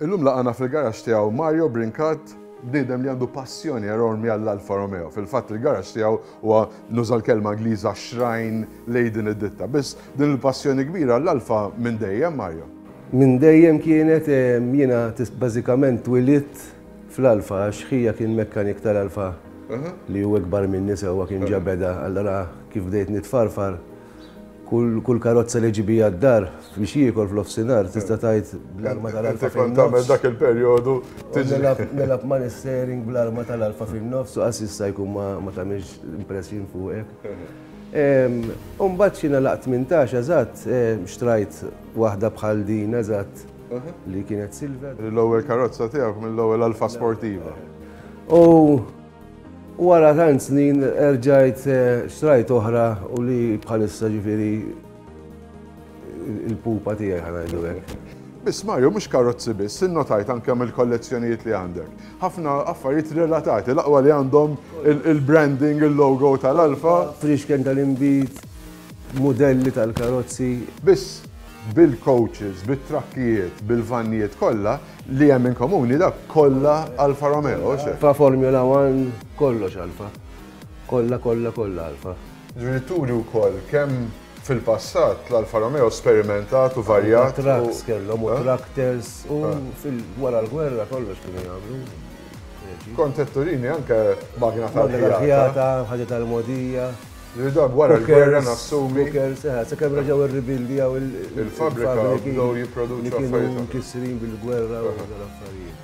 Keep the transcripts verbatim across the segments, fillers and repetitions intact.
Illum laqana fil-garaxx tiegħu Mario Brincat, bniedem li għandu passjoni enormi għall-Alfa Romeo. Fil-fatt, il-garaxx tiegħu huwa, nuża l-kelma Ingliża, shrine lejn din id-ditta. Biss din il-passjoni kbira għall-Alfa minn dejjem, Mario? Minn dejjem kienet. eh, jiena bażikament twilidt fl-Alfa għax ħija kien mekkanik tal-Alfa li hu ikbar minni sewwa, kien ġabeda, allora kif bdejt nitfarfar, kull, kull karozza li ġibija d-dar biex jiekol fl-offsinar, tista' tgħid bl-arma tal-Alfa. Inti kont tagħmel dak il-perjodu tiġi. Nilgħab ma' steering bl-arma tal-Alfa fin-nofs u qas jista' jkun ma ma tagħmilx impression fuqek. Umbagħad xi laqt tmintax eżatt, xtrajt waħda bħal din eżatt li kienet silver. L-ewwel karozza tiegħek, mill-ewwel Alfa Sportiva. U wara tant snin erġajt eh, xtrajt oħra u li bħalissa ġifieri il-pupa tiegħi, ħa ngħidu hekk. Biss Mario, mhux karozzi biss, innotajt anke mill-kollezzjonijiet li għandek. Ħafna affarijiet relatati, l-aqwa li għandhom il-branding, il-logo tal-Alfa. Friexken tal-inbid, modelli tal-karozzi. Biss bil-coaches, bil-trakkijiet, bil-vannijiet kollha li hemm in komuni, dak kollha Alfa Romeo, xe? Alfa Formula One, kollox Alfa. Kollha, kollha, kollha Alfa. Ġifieri turi wkoll kemm fil-passat l-Alfa Romeo sperimentat u varjat. Trucks kellhom u tractors u fil-wara l-gwerra kollox kienu jagħmlu. Kont qed turini anke magna tal-ħjata, tal-ħjata. Ħaġa tal-mogħdija. Ġifieri dak wara l-gwerra nassumi. Cookers, eh, sakemm reġgħu irribildijaw il-fabrika bdew jipproduċu li kienu affarijiet. Mkissrin bil-gwerra u dal-affarijiet.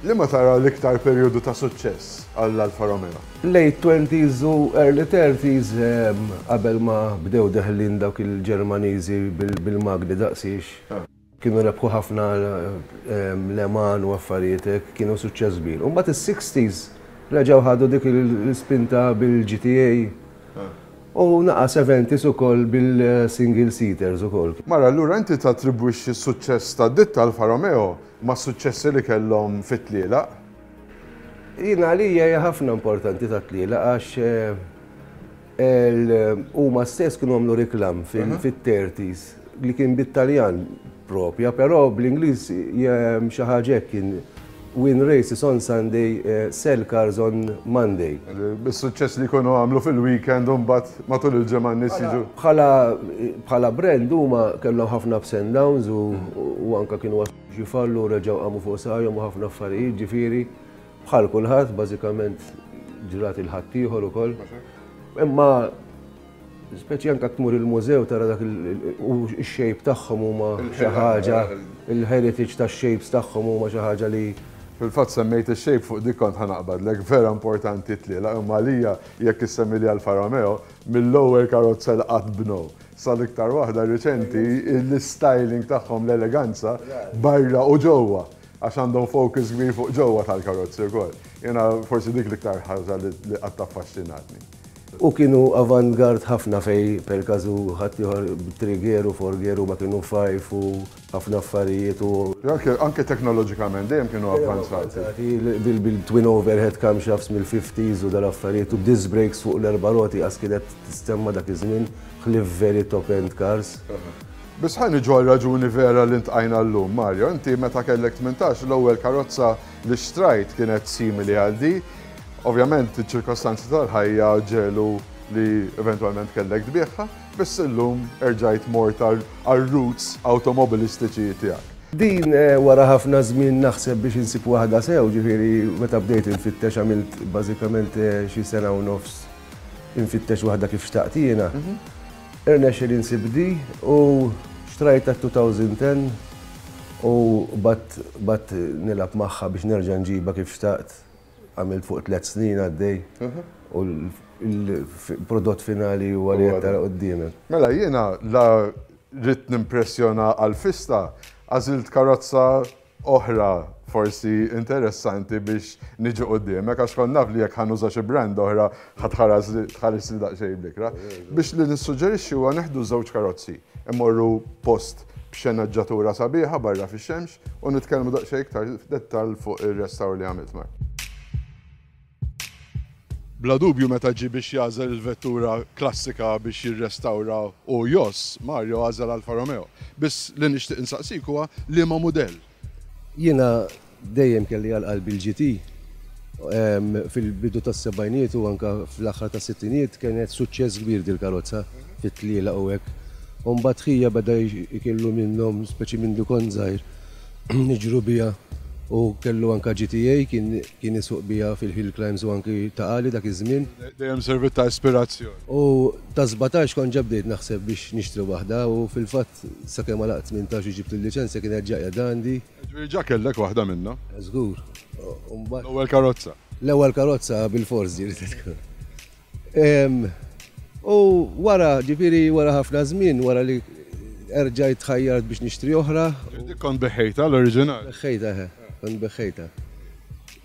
Li ma tara l-iktar perjodu ta' suċċess għall-Alfa Romeo? Late twenties u early thirties, em, qabel ma bdew deħlin dawk il-Ġermaniżi bil- bil-magni daqsiex. Kienu rebħu ħafna em, Le Mans u affarijiet hekk, kienu suċċess kbir. U mbagħad is-sixties reġgħu ħadu dik il-spinta bil-G T A. U naqa seventies ukoll bil-single seaters ukoll. Mara, allura inti tattribwixxi s-suċċess ta' ditta Alfa Romeo ma' suċċessi li kellhom fit-tlielaq? Jina għalija hija ħafna importanti ta' tlielaq għax eh, el- huma stess kienu għamlu reklam fil-thirties li kien bit-Taljan propja, però bl-Ingliż xi ħaġa hekk kien "Win races on Sunday, eh, sell cars on Monday." Bis-suċċess li jkunu għamlu fil-weekend u mbagħad matul il-ġimgħa n-nies jiġu. Bħala bħala brand huma kellhom ħafna ups and downs u, u anka kienu ġifallu, reġgħu qamu fuq saqajhom u ħafna affarijiet, ġifieri bħal kulħadd bażikament ġrat il-ħaddieħor ukoll. Imma speċi anka tmur il-mużew tara dak il- u x-shape tagħhom huma xi ħaġa, il-heritage tax-shapes tagħhom huma xi ħaġa li Fil-fatt semmejt il-shape, fuq dik kont ħa naqbadlek, vera importanti tlielaq, imma għalija jekk issemmi li Alfa Romeo, mill-ewwel karozza li qatt bnew sal-iktar waħda riċenti, l-styling tagħhom, l-eleganza barra u ġewwa, għax għandhom focus kbir fuq ġewwa tal-karozzi wkoll. Jiena forsi dik l-iktar ħaġa li li qatt affaxxinatni. U kienu avant-garde ħafna fej per każu ħaddieħor three gear u four gear u ma kienu five u ħafna affarijiet u Anke, anke teknoloġikament dejjem kienu avvanzati. Bil-twin overhead camshafts mill-fifties u dal-affarijiet u disc brakes fuq l-erba' roti għas kienet tistemma dak iż-żmien ħlief very top-end cars. Biss ħa niġu raġuni vera li ltqajna llum, Mario. Inti meta kellek tmintax, l-ewwel karozza li xtrajt kienet simili għal di. Ovvjament, iċ-ċirkostanzi tal-ħajja ġelu li eventualment kellek tbigħha, biss illum erġajt mort għal-roots automobilistiċi tiegħek. Din eh, wara ħafna żmien naħseb biex insib waħda sew, ġifieri meta bdejt infittex, għamilt bażikament eh, xi sena u nofs infittex waħda kif xtaqt jiena. Irnexxieli insib di u xtrajta elfejn u għaxra u bat bat nilgħab magħha biex nerġa' nġiba kif xtaqt. Għamilt fuq tliet snin għaddej u l-prodott finali huwa li qed tara quddiemek. Mela jiena la rrid nimpressjona għal-fista, għażilt karozza oħra forsi interessanti biex niġu quddiemek, għax kont naf li jekk ħa nuża xi brand oħra ħa tħares li daqsxejn bl-ikrah. Biex li nissuġġerixxi huwa neħdu żewġ karozzi, immorru post b'xenaġġatura sabiħa barra fix-xemx u nitkellmu daqsxejn iktar f'dettall fuq ir-restawr li għamilt mar. Bla dubju, meta ġi biex jagħżel il-vettura klassika biex jirrestawra u jos, Mario għażel Alfa Romeo. Biss li nixtieq insaqsik huwa liema mudell. Jiena dejjem kelli għal qalbi l-G T. Fil-bidu tas-sebgħinijiet u anka fl-aħħar tas-sittinijiet kienet suċċess kbir dil-karozza fit-tlielaq u hekk. U mbagħad ħija beda jkollu minnhom, speċi minn kont żgħir, niġru biha u kellu anka G T A, kien kien isuq biha fil-hill climbs u anki Ta' Qali dak iż-żmien. Dejjem servit ta' ispirazzjoni. U ta' sbatax kont ġa bdejt naħseb biex nixtri waħda u fil-fatt sakemm għalaqt tmintax u ġibt il-liċenzja kienet ġa qiegħda għandi. Ġifieri ġa kellek waħda minnha. Żgur. U mbagħad L-ewwel karozza. L-ewwel karozza bil-fors ġieli tkun. Em, U wara, ġifieri wara ħafna żmien, wara li erġajt tħajjart biex nixtri oħra, Dik kont begħtha l-oriġinali. Begħtha, he, kont begħtha.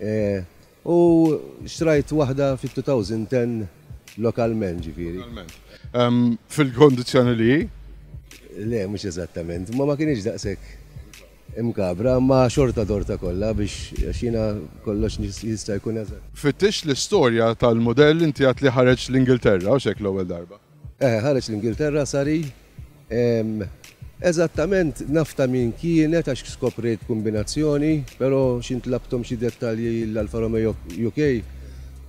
Eh, U xtrajt waħda fit-elfejn u għaxra lokalment, ġifieri. Finalment. Em, Fil-kondizzjoni li hi? Le, mhux eżattament, ma ma kienx daqshekk imkabra, ma xorta dorta kollha biex għax jiena kollox jista' jkun eżatt. Fittix l-istorja tal-modell, inti għedt li ħareġ l-Ingilterra u xek l-ewwel darba. Eh, ħareġ l-Ingilterra sari. em, Eżattament naf ta' min kienet għax skoprejt kombinazzjoni, però x'ħin tlabthom xi dettalji l-Alfa Romeo U K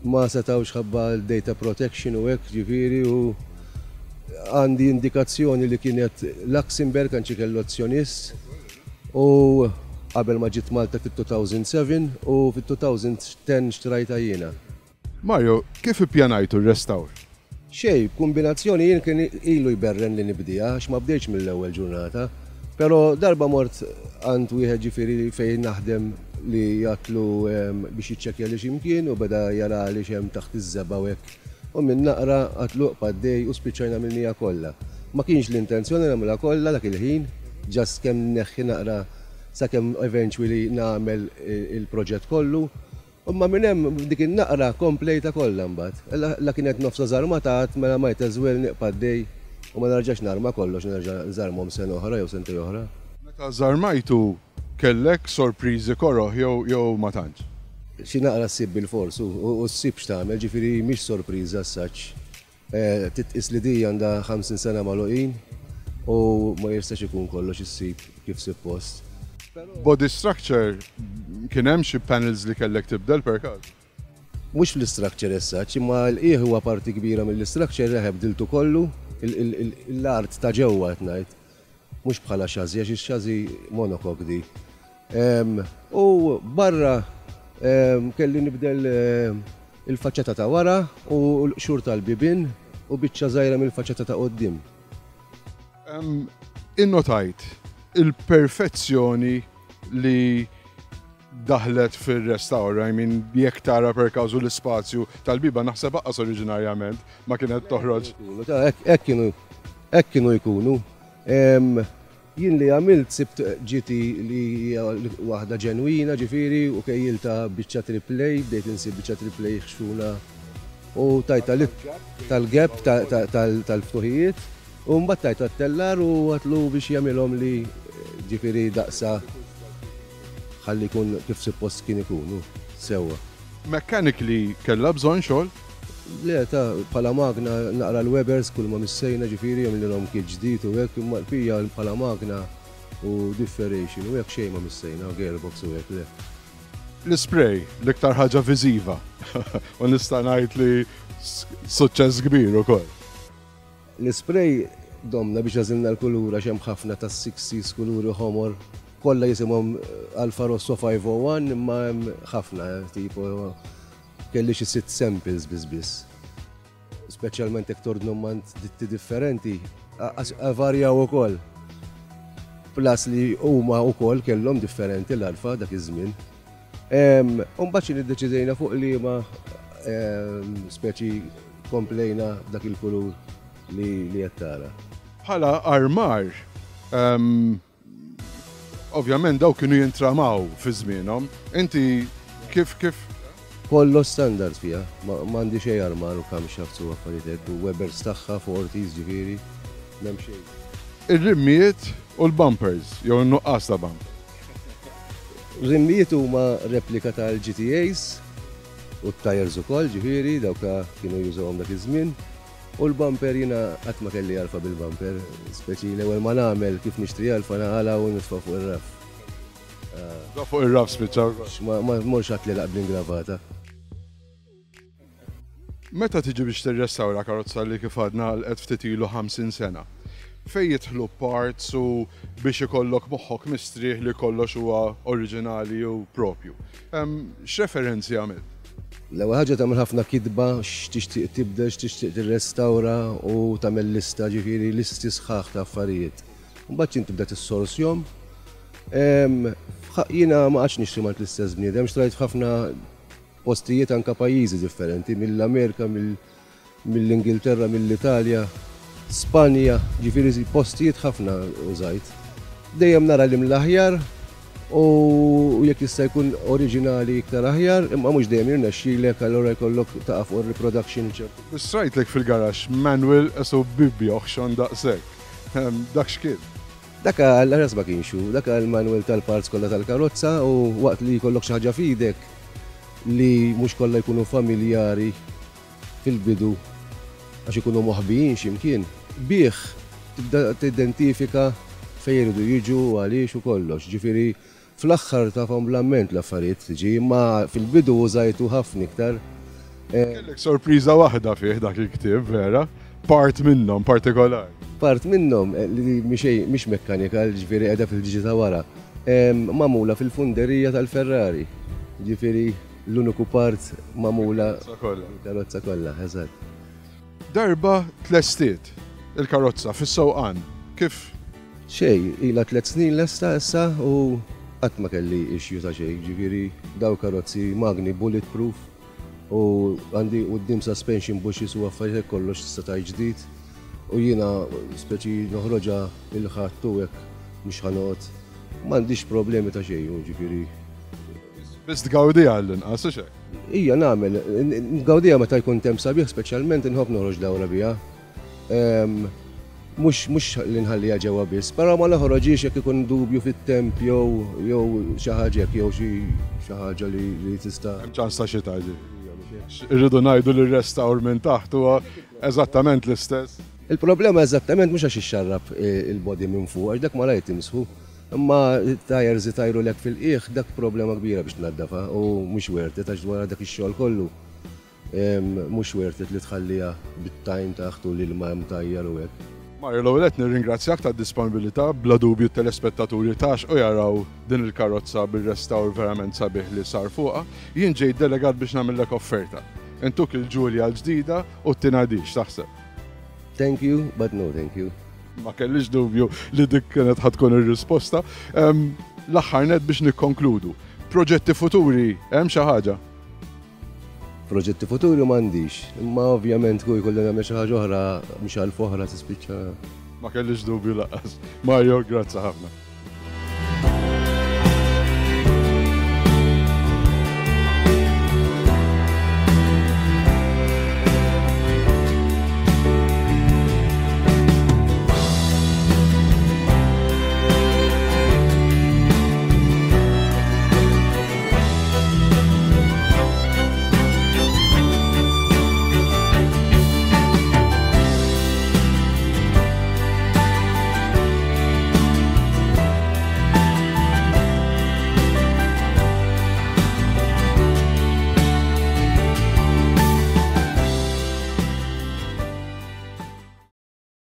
ma setawx ħabba l-data protection u hekk, ġifieri, u għandi indikazzjoni li kienet Luxembourg, anċi kellu azzjonist u qabel ma ġiet Malta fit-elfejn u sebgħa u fit-elfejn u għaxra xtrajta jiena. Mario, kif ippjanajtu r-restawr? Xej, kombinazzjoni jien kien ilu jberren li nibdija, għax ma bdejtx mill-ewwel ġurnata. Pero darba mort għand wieħed, ġifieri fejn naħdem, li għedtlu em, biex jiċċekkja li x'imkien u beda jara li x'hemm taħt iż-żebgħa u hekk. U minn naqra għedtlu paddej u spiċċajna minnija kollha. Ma kienx l-intenzjoni nagħmilha kollha dak il-ħin, just kemm neħħi naqra sakemm eventually nagħmel il-proġett kollu. Imma minn hemm dik in-naqra komplejta kollha mbagħad. La, la kienet nofsa żarmata, mela might as well nibqa' għaddej u ma narġax narma kollox, nerġa' nżarmhom sena oħra jew sentejn oħra. Meta żarmajtu kellek sorpriżi koroh jew jew ma tantx? Xi naqra ssib bil-fors u u ssib x'tagħmel, ġifieri mhix sorpriża as-such. Eh, Titqis li di għandha ħamsin sena magħluqin u ma jistax ikun kollox issib kif suppost. Body structure, kien hemm xi panels li kellek tibdel per każ? Mhux fl-structure as such, imma l-qiegħ huwa parti kbira mill-structure, reħeb bdiltu kollu, il- il- il- l-art ta' ġewwa qed ngħid. Mhux bħala chassis, għax ix-chassis monocoque di. Em, U barra em, kelli nibdel em, il-faċċata ta' wara u l-xur tal-bibin u biċċa żgħira mill-faċċata ta' quddiem. Em, Innotajt il-perfezzjoni li daħlet fil-restawr, I mean, jekk tara per każu l-ispazju tal-biba, naħseb aqqas oriġinarjament ma kienet toħroġ. Jkunu, ta' hekk hekk kienu hekk kienu jkunu. Em, Jien li għamilt, sibt G T li hija waħda ġenwina, ġifieri, u kejjilta biċċa triplay, bdejt insib biċċa triplay ħxuna u tajta li tal-gap ta- ta- tal- tal-ftuħijiet u mbagħad tajta t-tellar u għedtlu biex jagħmilhom li ġifieri daqsa ħalli jkun kif suppost kien ikunu sewwa. Mechanically kellha bżonn xogħol? Le, ta' bħala magna naqra l-Webers kull ma missejna, ġifieri għamilhom kit ġdid u hekk, imma l-pija bħala magna u differential u hekk xejn ma missejna, gearbox u hekk le. L-spray, l-iktar ħaġa viżiva. U nista' ngħid li s- suċċess kbir ukoll. L-spray domna biex għażilna l-kulura, hemm ħafna ta' sixties kuluri ħomor, kollha jisimhom Alfa Rosso ħamsa u ħamsin imma hemm ħafna, eh, tipo kelli xi sitt samples biss biss. Speċjalment jekk tordnhom mingħand ditti differenti, varjaw ukoll. Plus li huma wkoll kellhom differenti l-Alfa dak iż-żmien. U mbagħad xi niddeċidejna fuq li ma speċi komplejna dak il-kulur li li qed tara. Bħala armar, em, ovvjament daw kienu jintramaw fi żmienhom. Inti kif kif Kollox standard fija, ma m'għandi xejn armar u camshafts u affarijiet hekk, u Webers tagħha, forties, ġifieri, m'hemm xejn. Ir-rimmijiet u l-bumpers, jew n-nuqqas ta' bumper? Rimmijiet huma replika tal-G T As u t-tires ukoll, ġifieri, dawk kienu jużawhom dak iż-żmien. U l-bumper, jiena qatt ma kelli Alfa bil-bumper, speċi l-ewwel ma nagħmel kif nixtri Alfa naqala u nitfa' fuq ir-raff. Da fuq ir-raf spiċċa. Ma morx għat li bl-ingravata. Meta tiġi biex tirrestawra karozza li kif għadna għalqet ftit ilu ħamsin sena, fejn jidħlu parts u biex ikollok moħħok mistrieħ li kollox huwa oriġinali u propju? X'referenzi għamilt? L-ewwel ħaġa, tagħmel ħafna kitba x'tixtieq tibdel, x'tixtieq tirrestawra u tagħmel lista, ġifieri listi sħaħ ta' affarijiet. Mbagħad int tibda tissorsjom. Jiena ma qgħadx nixtri mingħand l-istess bniedem, xtrajt ħafna postijiet, anka pajjiżi differenti, mill-Amerika, mill-Ingilterra, mill-Italja, Spanja, ġifieri postijiet ħafna użajt. Dejjem nara li mill-aħjar u jekk jista' jkun oriġinali iktar aħjar, imma mhux dejjem jirnexxilek, allura jkollok taqa' fuq reproduction ċertu. Rajtlek fil-garaxx manual qisu Bibbja oħxon daqshekk. Dak x'kien? Dak għal ma kienx hu, dak il-manual tal-parts kollha tal-karozza, u waqt li jkollok xi ħaġa f'idek li mhux kollha jkunu familjari fil-bidu għax ikunu moħbijin x'imkien, bih tibda tidentifika fejn jridu jiġu u għaliex u kollox. Ġifieri fl-aħħar tafhom bl-amment l-affarijiet tiġi, imma fil-bidu użajtu ħafna iktar. Eh, Kellek sorpriża waħda fih dak il-ktieb, vera? Part minnhom partikolari. Part minnhom eh, li mhix mekkanika, ġifieri qiegħda fil-ġiġi ta' wara. Magħmula fil-funderija tal-Ferrari. Ġifieri l-uniku part magħmula. Karozza kollha, eżatt. Darba tlestiet il-karozza fis-sewqan, kif? Xej, ila tliet snin lesta issa u qatt ma kelli issue ta' xejn, ġifieri daw karozzi magni bulletproof u għandi quddiem suspension bushes u affarijiet, kollox tista' tgħid ġdid, u jiena speċi noħroġha il-Ħadd u hekk mhux ħa noqgħod, m'għandix problemi ta' xejn, ġifieri. Biss tgawdiha għall-inqas, u xek? Ija nagħmel, ngawdiha meta jkun temp sabiħ speċjalment, inħobb noħroġ dawra biha. Mhux mhux li nħalliha ġewwa biss, però ma noħroġix jekk ikun dubju fit-temp jew jew xi ħaġa jew xi xi ħaġa li li tista'. Hemm ċans ta' xita, ġi. Irridu ngħidu li r-restawr minn taħt huwa eżattament l-istess. Il-problema eżattament mhux għax ixxarrab il-body minn fuq, għax dak ma rajt timsħu. Imma tires itajru lek fil-qiegħ, dak problema kbira biex tnaddafa u mhux worth it, għax dwar dak ix-xogħol kollu mhux worth it li tħalliha bit-tajn taħt u l-ilma mtajjar u hekk. Mario, l-ewwel qed nirringrazzjak tad-disponibilità, bla dubju t-telespettaturi tax u jaraw din il-karozza bil-restawr verament sabiħ li sar fuqha. Jien ġejt delegat biex nagħmellek offerta. Intuk il-Giulia l-ġdida u t-tinadix, taħseb? Thank you, but no thank you. Ma kellix dubju li dik kienet ħa tkun ir-risposta. L-aħħar net biex nikkonkludu. Proġetti futuri, hemm xi ħaġa? Proġetti futuri m'għandix, imma ovvjament kull jkolli nagħmel xi ħaġa oħra, mhux għal oħra tispiċċa. Ma kellix dubju lanqas. Mario, grazzi ħafna.